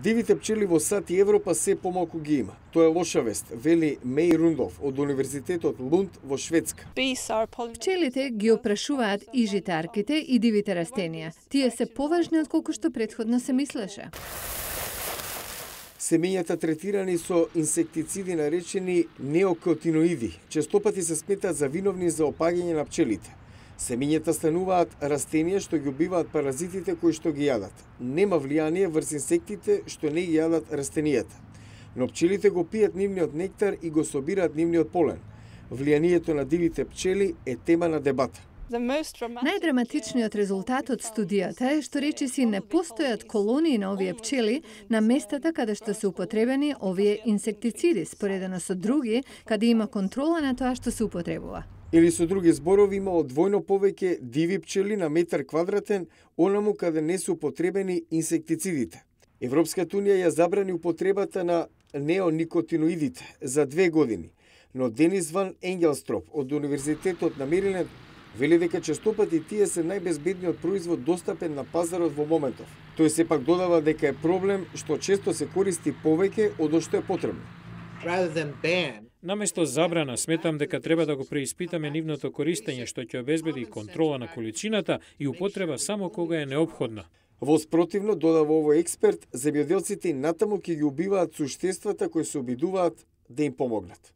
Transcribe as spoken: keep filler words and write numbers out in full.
Дивите пчели во САД и Европа се помалку ги има. Тоа е лоша вест, вели Меј Рундов од Универзитетот Лунд во Шведска. Пчелите ги опрашуваат и житарките и дивите растенија. Тие се поважни отколку што претходно се мислеше. Семењата третирани со инсектициди наречени неокотиноиди, честопати се сметаат за виновни за опаѓање на пчелите. Семењата стануваат растенија што ги убиваат паразитите кои што ги јадат. Нема влијание врз инсектите што не ги јадат растенијата. Но пчелите го пијат нивниот нектар и го собираат нивниот полен. Влијанието на дивите пчели е тема на дебата. Најдраматичниот резултат од студијата е што речиси не постојат колонии на овие пчели на местата каде што се употребени овие инсектициди, споредено со други, каде има контрола на тоа што се употребува. Или со други зборови имало двојно повеќе диви пчели на метар квадратен, онаму каде не се употребени инсектицидите. Европската унија ја забрани употребата на неоникотиноидите за две години, но Денис Ван Енгелстроп од Универзитетот на Мериленд вели дека честопати тие се најбезбедниот производ достапен на пазарот во моментов. Тој сепак додава дека е проблем што често се користи повеќе од што е потребно. Наместо забрана, сметам дека треба да го преиспитаме нивното користење што ќе обезбеди контрола на количината и употреба само кога е неопходна. Во спротивно, додава овој експерт, земјоделците и натаму ќе ги убиваат суштествата кои се обидуваат да им помогнат.